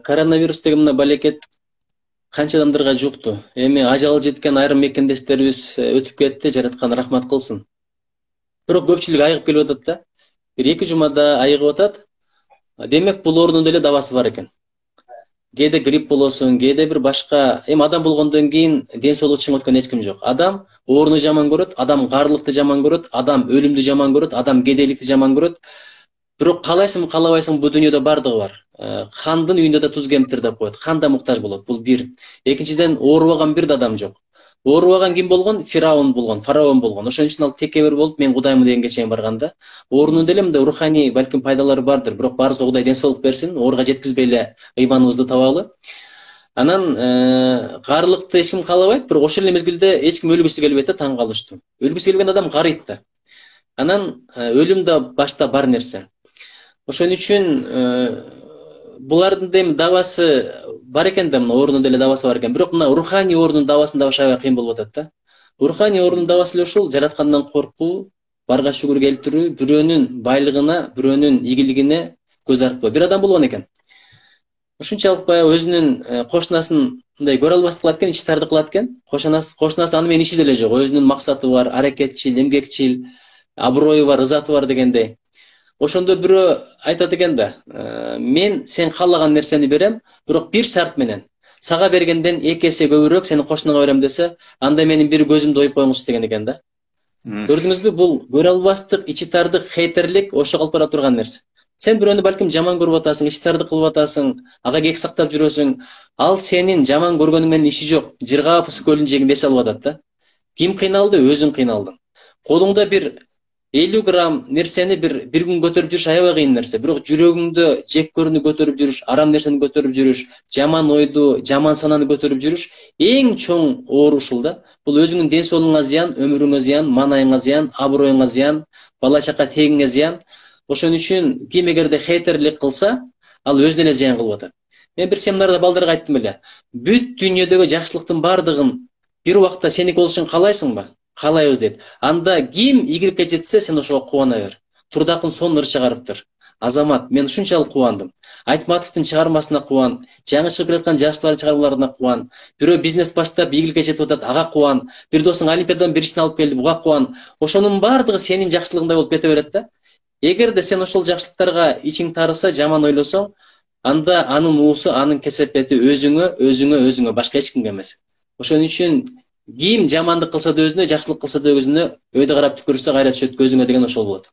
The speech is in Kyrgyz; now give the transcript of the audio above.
коронавирус деген мына балекет канча адамдарга жукту. Эми ажалы жеткен айрым мекендештерибиз өтүп кетти, жараткан рахмат кылсын. Бирок көпчүлүк айыгып келип атат да. Бир 2 жумада айыгып атат. Демек бул оорунун деле дабасы бар экен. Кээде грипп болосуң, кээде бир башка, эми адам болгондон кийин ден соолугу чың өткөн эч ким жок. Адам ооруну жаман көрөт, адам каарылыкты жаман көрөт, адам өлүмдү жаман көрөт, адам кедейликти жаман көрөт. Бирок каалайсың, каалабайсың, бул дүйнөдө бардыгы бар. Хандын үйүндө да туз кемптир деп коет. Хан да муктаж болот. Бул бир. Экинчиден, оорубаган бир да адам жок. Оорубаган ким болгон? Фараон болгон. Ошон үчүн ал текебер болуп, мен Кудаймын дегенге чейин барганда, оорунун деле мындай руханий балким пайдалары бардыр. Бирок баарыбызга Кудай ден соолук берсин, ооруга жеткизбей эле ыйманыбызды табалы. Анан каарылыкты эч ким каалабайт, бирок ошол эле мезгилде эч ким өлгүсү келбейт да, таң калыштуу. Өлгүсү келген адам карыйт да. Анан өлүм да башта бар нерсе. Ошон үчүн булардын да дабасы бар экен да, мына оорунун деле дабасы бар экен. Бирок мына руханий оорунун дабасын дагы аябай кыйын болуп атат да. Руханий оорунун дабасы эле ушул: жараткандан коркуу, барга шүгүр келтирүү, бирөөнүн байлыгына, бирөөнүн ийгилигине көз артпоо. Бир адам болгон экен. Ушунчалык баягы өзүнүн кошунасын мындай көрө албастык кылат экен, ичтарды кылат экен. Кошунасы аны менен иши деле жок. Өзүнүн максаты бар, аракетчил, эмгекчил, аброю бар, ызаты бар дегендей. Ошондо бирөө айтат экен да: мен сен каалаган нерсени берем, бирок бир шарт менен. Сага бергенден 2 эсе көбүрөөк сени кошунаңа берем десе, анда менин бир көзүмдү оюп коюңуз деген экен да. Көрдүңүзбү? Бул көрө албастык, ичи тардык, хейтерлик ошо калып бара турган нерсе. Сен бирөөнү балким жаман көрүп атасың, ичи тарды кылып атасың, ага кек сактап жүрөсүң. Ал сенин жаман көргөнүң менен иши жок. Жыргафыс көлүнүн жээгинде эс алып атат да. Ким кыйналды? Өзүң кыйналдың. Колуңда бир 50 грамм нерсени бир күн көтөрүп жүрүш аябай кыйын нерсе. Бирок жүрөгүңдө жек көрүүнү көтөрүп жүрүш, арам нерсени көтөрүп жүрүш, жаман ойду, жаман сананы көтөрүп жүрүш эң чоң оору ушул да. Бул өзүңдүн ден соолугуңа зыян, өмүрүңө зыян, маанайыңа зыян, аброюңа зыян, бала чака тегиңе зыян. Ошон үчүн ким эгерде хейтерлик кылса, ал өзүнө эле зыян кылып атат. Мен бир семинарда балдарга айттым эле: бүт дүйнөдөгү жакшылыктын бардыгын бир убакта сеники болушун каалайсыңбы? Каалайбыз дейт. Анда ким ийгиликке жетсе, сен ошого кубана бер. Турдакын сонун ыр чыгарыптыр. Азамат, мен ушунчалык кубандым. Айтматовдун чыгармасына кубан, жаңы чыгып келаткан жашчылардын чыгармаларына кубан, бирөө бизнес баштап ийгиликке жетип атат, ага кубан, бир досуң олимпиададан биринчисин алып келди, буга кубан. Ошонун бардыгы сенин жакшылыгыңдай болуп кете берет да. Эгерде сен ошол жакшылыктарга ичиң тарыса, жаман ойлосоң, анда анын уусу, анын кесепети өзүңө, башка эч кимге эмес. Ошон үчүн ким жамандык кылса да өзүнө, жакшылык кылса да өзүнө, өйдө карап түкүрсө кайра түшөт көзүңө деген ошол болот.